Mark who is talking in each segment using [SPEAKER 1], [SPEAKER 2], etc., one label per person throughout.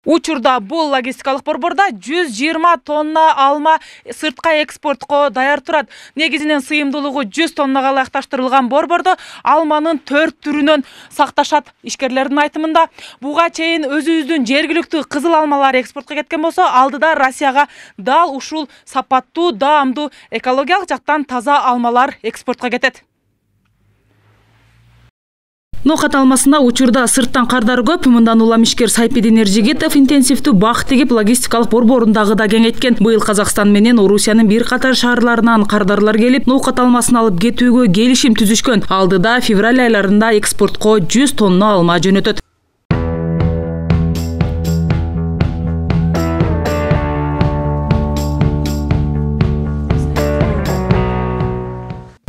[SPEAKER 1] Учурда бул логистикалык борбордо 120 тонна алма сыртка экспортко даяр турат. Негизинен сыйымдуулугу 100 тоннага ылайыкташтырылган борбордо алманын 4 түрүнөн сакташат. Ишкерлердин айтымында буга чейин өзүбүздүн жергиликтүү кызыл алмалар экспортко кеткен болсо, алдыда Россияга дал ушул сапаттуу, даамдуу, экологиялык жактан таза алмалар экспортко кетет. Ноокат алмасына учурда сырттан кардар көп. Мындан улам ишкер Сайпидин Эржигитов интенсивдүү бак тигип логистикалык борборундагы да кеңейткен. Быйыл Казакстан менен Орусиянын бир катар шаарларынан кардарлар келип, ноокат алмасын алып кетүүгө келишим түзүшкөн. Алдыда февраль айларында экспортко 100 тонна алма жөнөтөт.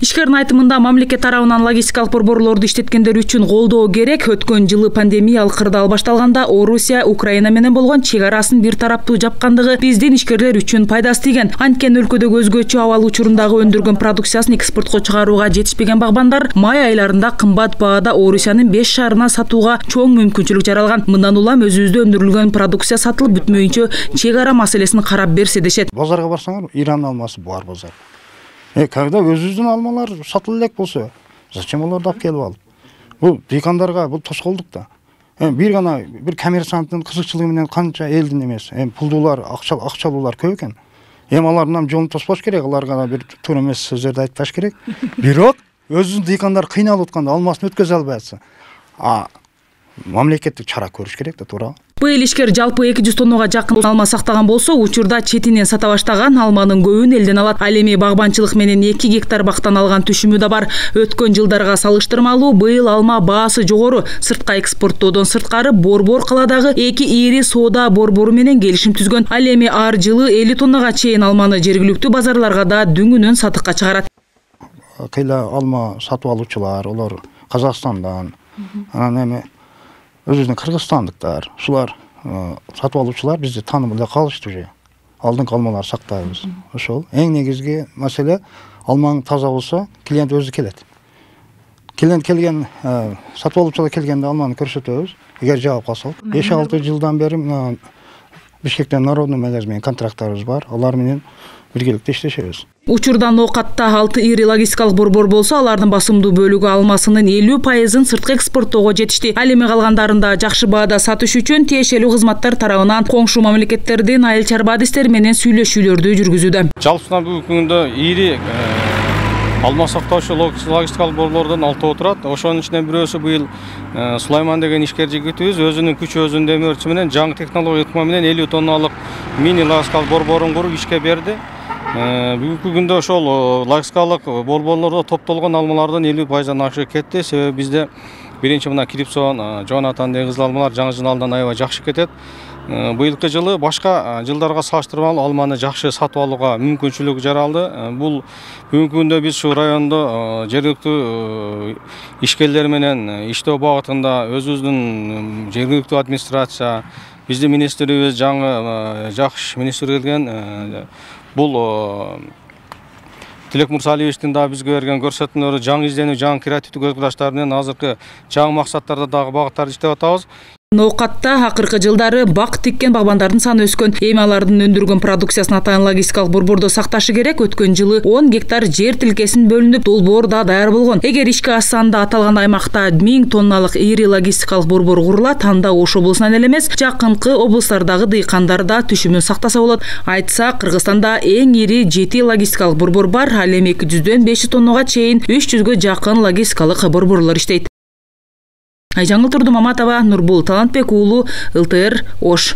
[SPEAKER 1] Ишкердин айтымында мамлекет тарабынан логистикалык борборлорду иштеткендер үчүн колдоо керек. Өткөн жылы пандемиялык кырдаал башталганда Орусия Украина менен болгон чек арасын бир тараптуу жапкандыгы биздин ишкерлер үчүн пайдасы тийген. Анткени өлкөдөгү өзгөчө абал учурундагы өндүргөн продукциясын экспортко чыгарууга жетишпеген багбандар май айларында кымбат баада Орусиянын 5 шаарына сатууга чоң мүмкүнчүлүк жаралган. Мындан улам өзүбүздө өндүрүлгөн продукция сатылып бүтмөйүнчө чек ара маселесин карап берсе дешет.
[SPEAKER 2] Базарга барсаңар, Иран алмасы бар базар. Когда өзүбүздүн алмалар сатыла элек болсо, зачем оларды алып келип алып? Бул дыйкандарга бул тоскоолдук да. Бир коммерсанттын кызыкчылыгы менен канча элдин эмес, пулдуулар, акчалуулар көп экен. Алардын жолун тоспош керек, аларга да бир туура эмес сөздөрдү айтпаш керек. Бирок өзүбүздүн дыйкандар кыйналып атканда алмасын өткөзө албай атса, мамлекеттик чара көрүш керек да, туура.
[SPEAKER 1] Быйыл ишкер жалпы 200 тоннага жакын алма сактаган болсо, учурда четинен сата баштаган алманын көбүн элден алат. Ал эми багбанчылык менен 2 гектар бактан алган түшүмү да бар. Өткөн жылдарга салыштырмалуу быйыл алма баасы жогору. Сыртка экспорттоодон сырткары Борбор каладагы 2 ири соода борбору менен келишим түзгөн. Ал эми ар жылы 50 тоннага чейин алманы жергиликтүү базарларга да дүңүнөн сатыкка чыгарат.
[SPEAKER 2] Кыйла алма сатып алуучулар, олар Казакстандан, анан өзүбүздүн кыргызстандыктар, ушулар сатып алуучулар бизди таанып эле калышты уже. Алдыңкы алмалар сактайбыз. Ошол эң негизги маселе, алмаң таза болсо, клиент өзү келет. Клиент келген, сатып алуучулар келгенде алманы көрсөтөбүз. Эгер жагып калса, 5-6 жылдан бери Бишкектен Народный магазин менен контракттарыбыз бар. Алар менен биргеликте иштешебиз.
[SPEAKER 1] Учурда ноокатта 6 ири логистикалык борбор болсо, алардын басымдуу бөлүгү алмасынын 50% сырткы экспорттоого жетишти. Ал эми калгандарында жакшы баада сатыш үчүн тиешелүү кызматтар тарабынан коңшу мамлекеттердин айыл чарба адистери менен сүйлөшүүлөрдү жүргүзүүдө.
[SPEAKER 3] Жалпысынан бүгүнкү күндө ири алма сактоочу логистикалык борборлордон 6 турат. Ошонун ичинен бирөөсү быйыл Сулайман деген ишкер жигитибиз өзүнүн күчү, өзүнүн демөөрчү менен жаңы технология ыкма менен 50 тонналык мини логистикалык борборун куруп ишке берди. Бүгүнкү күндө ошол логистикалык борборлордо топтолгон алмалардын 50%-дан ашыгы кетти. Себеби бизде биринчи мына Крипсон, Джонатан деген кызыл алмалар жаңы жыналдан аябай жакшы кетет. Быйылкы жылы башка жылдарга салыштырмалуу алманы жакшы сатып алууга мүмкүнчүлүк жаралды. Бул бүгүнкү күндө биз шу райондо жергиликтүү ишкерлер менен иштөө багытында өзүбүздүн жергиликтүү администрация, биздин министрибиз жаңы жакшы министр келген. Бул Тилек Мурсалиевичтин да бизге берген көрсөтмөлөрү жаңы изденүү, жаңы креативдүү көз караштар менен азыркы жаңы максаттарда дагы багыттарды иштеп атабыз.
[SPEAKER 1] Ноокатта акыркы жылдары бак тиккен багбандардын саны өскөн. Эми алардын өндүргөн продукциясын атайын логистикалык борбордо сакташы керек. Өткөн жылы 10 гектар жер тилкесин бөлүнүп, долбоор да даяр болгон. Эгер ишке ашсанда аталган аймакта 1000 тонналык ири логистикалык борбор курулат, анда Ош облусунан эле эмес, жакынкы облустардагы дыйкандар да түшүмүн сактаса болот. Айтса, Кыргызстанда эң ири 7 логистикалык борбор бар. Ал эми 200дөн 500 тоннага чейин 300гө жакын логистикалык борборлор иштейт. Айжаңыл Турдумаматова, Нурбул Талантбек уулу, ЛТР, Ош.